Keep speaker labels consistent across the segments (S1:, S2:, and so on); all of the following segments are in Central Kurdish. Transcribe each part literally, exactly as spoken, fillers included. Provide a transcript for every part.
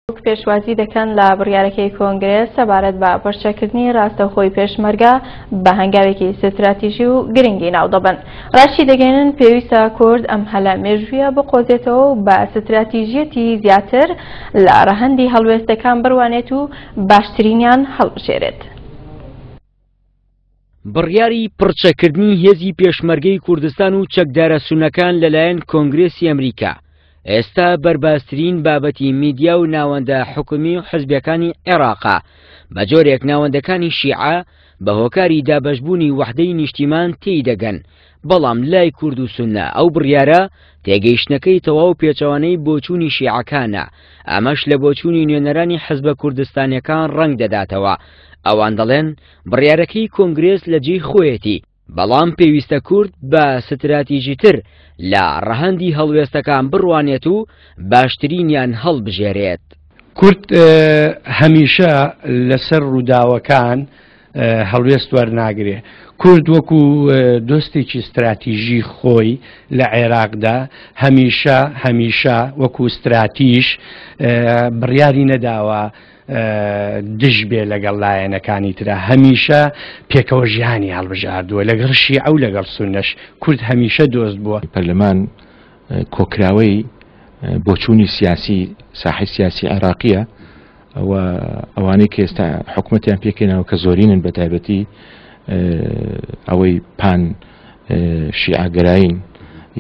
S1: پێشوازی دەکەن لە بڕیارەکەی کۆنگرێس سەبارەت بە پرچەکردنی ڕاستەوخۆی پێشمەرگە بە هەنگاوێکی ستراتیژی و گرنگی ناودەبن. ڕاشی دەگەێنن پێویستە کورد ئەم هەلە مێژوویە بقۆزێتەوە و بە ستراتیژیەتی زیاتر لە ڕەهەندی هەڵوێستەکان بڕوانێت و باشترینیان هەڵبژێرێت.
S2: بڕیاری پرچەکردنی هێزی پێشمەرگەی کوردستان و چەکدارە سونەکان لەلایەن کۆنگرێسی ئەمریکا ئێستا بەرباسترین بابەتی میدیا و ناوەندە حکومی و حزبەکانی عێراقا، بە جۆرێک ناوەندەکانی شیعە بە هۆکاری دابەشبوونی وەحدەی نیشتیمان تێی دەگەن، بەڵام لای کورد و سونە ئەو بڕیارە تێگەیشتنەکەی تەواو پێچەوانەی بۆچوونی شیعەکانە، ئەمەش لە بۆچوونی نوێنەرانی حزبە کوردستانیەکان ڕەنگ دەداتەوە. ئەوان دەڵێن بڕیارەکەی کۆنگرێس لە جێی خۆیەتی، بەڵام پێویستە کورد بە ستراتیژیتر لە ڕەهەندی هەڵوێستەکان بڕوانێت و باشترینیان هەڵبژێرێت.
S3: کورد هەمیشە لەسەر ڕووداوەکان هەڵوێست وەرناگرێ. کورد وەکو دۆستێکی ستراتیژی خۆی لە عێراقدا هەمیشە هەمیشە وەکو ستراتیژ بڕیاری نەداوە دژ بێ لەگەڵ لایەنەکانی ترە، هەمیشە پێکەوە ژیانی هەڵبژاردووە لەگەڵ شیعە و لەگەڵ سوننەش. کورد هەمیشە دۆست بووە.
S4: پەرلەمان کۆکراوەی بۆچوونی سیاسی ساحی سیاسی عێراقیە و ئەوانەی کە ئێستا حکومەتیان پێکەینەوە کە زۆرینن بە تایبەتی ئەوەی پان شیعەگەرایین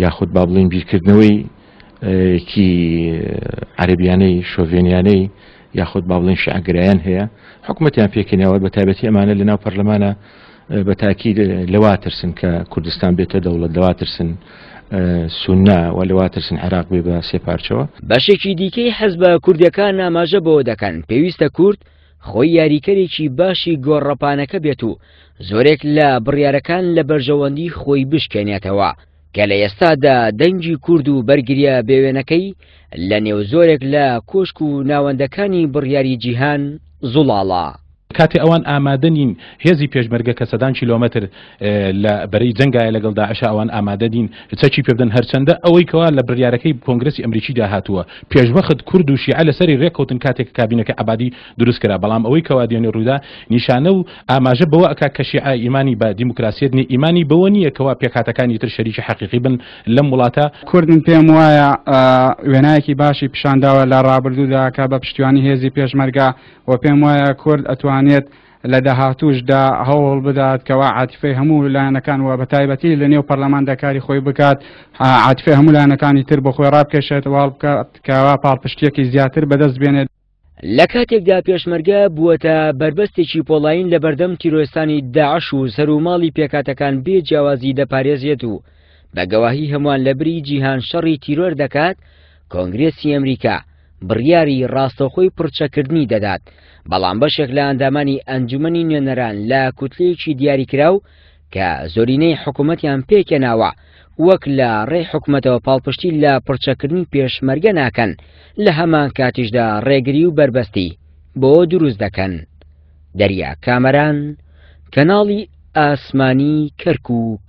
S4: یاخود با بڵێین بیرکردنەوەی کی عەرەبیانەی شۆڤێنیانەی یاخود با بڵێن شیعەگەرایان هەیە حکومەتیان پێکەینەوە. بە تایبەتی ئەمانە لەناو پەرلەمانە بە تاکید لەوا ترسن کە کوردستان بێتە دەوڵەت، لەوا ترسن سونە و لەوا ترسن عێراق بێ بە سێ پارچەوە.
S2: بەشێکی دیکەی حزبە کوردیەکان ئاماژە بەوە دەکەن پێویستە کورد خۆی یاریکەرێکی باشی گۆڕەپانەکە بێت و زۆرێک لە بڕیارەکان لە بەرژەوەندی خۆی بشکێنێتەوە، کە لە ئێستادا دەنگی کورد و بەرگریە بێوێنەکەی لە نێو زۆرێک لە کۆشک و ناوەندەکانی بڕیاری جیهان زوڵاڵە.
S5: کاتێ ئەوان ئامادە نین هێزی پێشمەرگە کە سەدان کیلۆمەتر لە بەرەی جەنگایە لەگەڵ داعشە ئەوان ئامادە نین چەکی پێ بدەن، هەرچەندە ئەوەی کەوا لە بڕیارەکەی کۆنگرسی ئەمریکیدا هاتووە پێشوەخت کورد و شیعە لەسەری ڕێککەوتن کاتێک کابینەکە عەبادی دروست کرا، بەڵام ئەوەی کەوا دێنێ ڕوودا نیشانە و ئاماژە بەوە ئەکا کە شیعە ئیمانی بە دیموکراسیەت نیە، ئیمانی بەوە نییە کەوا پێکهاتەکانی تر شەریکی حەقیقی بن لەم وڵاتە.
S6: کورد من پێم وایە وێنایەکی باشی پیشانداوە لە ڕابردوودا کە بە پشتیوانی هێزی پێشمەرگە و پێم وایە کورد ئەتوانێت لە داهاتوشدا هەوڵ بدات کەوا عاتیفەی هەموو لایەنەکان و بە تایبەتی لە نێو پەرلەماندا کاری خۆی بکات، عاتیفەی هەموو لایەنەکانی تر بۆ خۆی ڕابکێشێت واڵ بکات کەوا پاڵپشتیەکی زیاتر بەدەست بێنێت.
S2: لە کاتێکدا پێشمەرگە بووەتە بەربەستێکی پۆڵاین لە بەردەم تیرۆرستانی داعش و سەر و ماڵی پێکاتەکان بێ جیاوازی دەپارێزێت و بە گەواهی هەمووان لە بری جیهان شەڕی تیرۆر دەکات، کۆنگرێسی ئەمریکا بڕیاری ڕاستەوخۆی پرچەکردنی دەدات، بەڵام بەشێک لە ئەندامانی ئەنجومەنی نوێنەران لە کوتلەیەکی دیاریکراو کە زۆرینەی حکوومەتیان پێکێناوە وەک لە ڕێی حکوومەتەوە پاڵپشتی لە پرچەکردنی پێشمەرگە ناکەن، لە هەمان کاتیشدا ڕێگری و بەربەستی بۆ دروست دەکەن. دەریا کامەران، کەناڵی ئاسمانی کەرکووک.